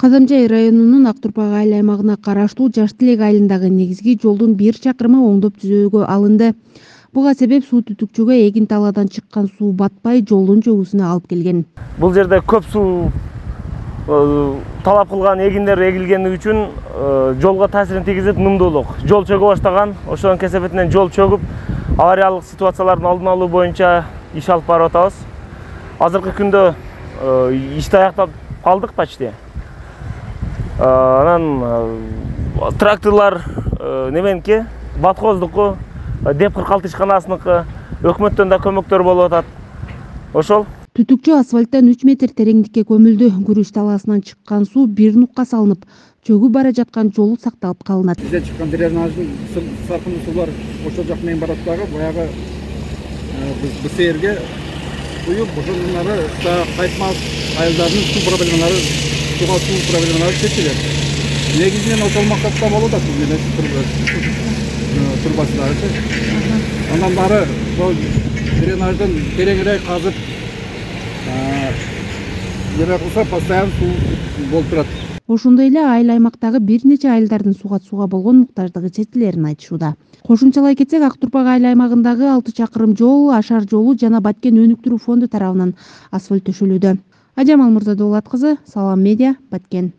Казамжай районунун Актурпак айыл аймагына караштуу Жаш Тилек айылындагы негизги жолдун 1 чакырымы оңдоп түзөөгө алынды. Буга себеп суу түтүкчөгө эгин талаадан чыккан суу батпай жолдун чөгүүсүнө алып келген. Бул жерде көп суу талап кылган эгиндер эгилгени үчүн жолго таасирин тийгизип, нымдуулук. Жол чөгө баштаган, ошонун кесепетинен жол чөгүп, авариялык ситуациялардын алдын алуу боюнча иш алып барып атабыз. Азыркы күндө ишти аяктап калдык почти. Анан тракторлар неменики, батхоздуку, деп 46 ишканасыныкы, өкмөттөн да көмөктөр болуп атат. Ошол. Түтүкчө асфальттан 3 метр тереңдикке көмүлдү. Күрүч талаасынан чыккан суу бир нукка салынып, чөгүп бара жаткан жол сакталып калынат. Бизде чыккан дренаждын саркындуу суулар ошол жак менен барат дагы, баягы БСРге куюп, ошондон кайтмас айылдардын суу проблемалары, суу проблемалары чечилет. Негизинен ошол максатта болуп атат бизде турбасылары. Андан бары ошол дренаждын тереңирээк казып, неме кылса постоянно суу болуп турат. Ошондой эле айыл аймактагы бир нече айылдардын сууга болгон муктаждыгы чечилерин айтышууда. Кошумчалай кетсек, Актурпак айыл аймагындагы 6 чакырым жол, Ашар жолу жана Баткен өнүктүрүү фонду тарабынан асфальт төшөлүүдө. Ажамал Мурзадуулат кызы, Салам медиа, Баткен.